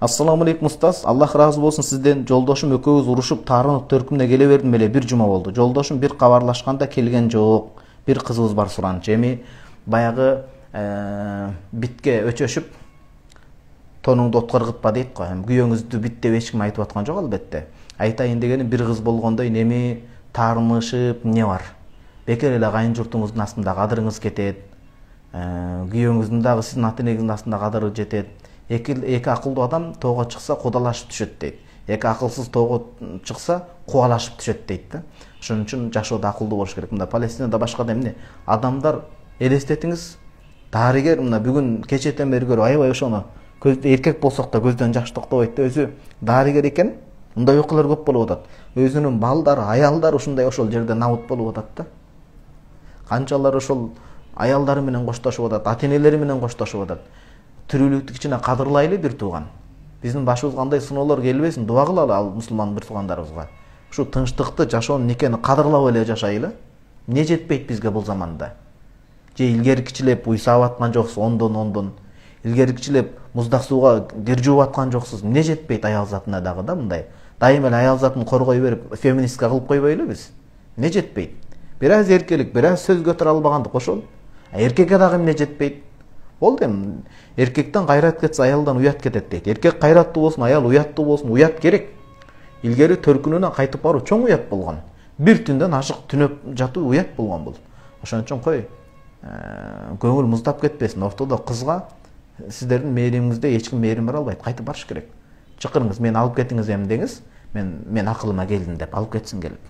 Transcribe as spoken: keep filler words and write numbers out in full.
Ассаламу алейкум устаз. Аллах разы болсун, сизден жолдошум экөөбүз урушуп, таарынып төркүмүнө келе бердим эле бир жума болду. Жолдошум бир кабарлашканда келген жок. Бир кызыбыз бар суранчу. Эми баягы битке өчөшүп тонуңду отко ыргытпа дейт го. Күйөөңүздү бит деп эч ким айтып аткан жок албетте. Айтайын дегеним, бир кыз болгондой эми таарынышып эмне бар? Бекер эле кайын журтуңуздун астында кадырыңыз кетет. Күйөөңүздүн дагы сиздин ата-энеңиздин астында кадыры жетет. Эки эки акылдуу адам тоого чыкса кудалашып түшөт дейт. Эки акылсыз тоого чыкса кубалашып түшөт дейт да. Ошон үчүн жашоодо акылдуу болуш керек. Мында Палестинада башкада эмне? Адамдар элестетиңиз, дарыгер мына бүгүн кечетен бери көрүп аябай ошону эркек болсок да көздөн жаш токтобойт да, өзү дарыгер экен. Мындай окуялар көп болуп атат. Өзүнүн балдары, аялдары ушундай ошол жерде набыт болуп атат да. Канчалар ошол аялдары менен коштошуп атат, ата-энелери менен коштошуп атат. Тирүүлүктү кичине кадырлайлы бир тууган. Биздин башыбызга кандай сыноолор келбесин, дуа кылалы ал мусулман бир туугандарыбызга. Ушу тынчтыкты, жашоону, никени кадырлап эле жашайлы. Эмне жетпейт бизге бул заманда? Же илгеркичилеп уйсап аткан жоксуз, ондон ондон. Илгеркичилеп муздак сууга кир жууп аткан жоксуз. Эмне жетпейт аял затына дагы да мындай. Дайыма эле аял затын коргой берип, феминистка кылып койбойлу биз. Эмне жетпейт? Бир аз эркелик, бир аз сөз көтөрө албагандык ошол. Эркекке дагы эмне жетпейт? Болду эми. Эркектен кайрат кетсе аялдан уят кетет дейт. Эркек кайраттуу болсун, аял уяттуу болсун, уят керек. Илгери төркүнүнөн кайтып баруу чоң уят болгон. Бир түндөн ашык түнөп жатуу уят болгон бул. Ошон үчүн кой, көңүл муздап кетпесин. Ортодо кызга сиздердин мээримиңизде эч ким мээрим бере албайт. Кайтып барыш керек. Чакырыңыз, мени алып кетиңиз эми деңиз. Мен мен акылыма келдим деп алып кетсин келип.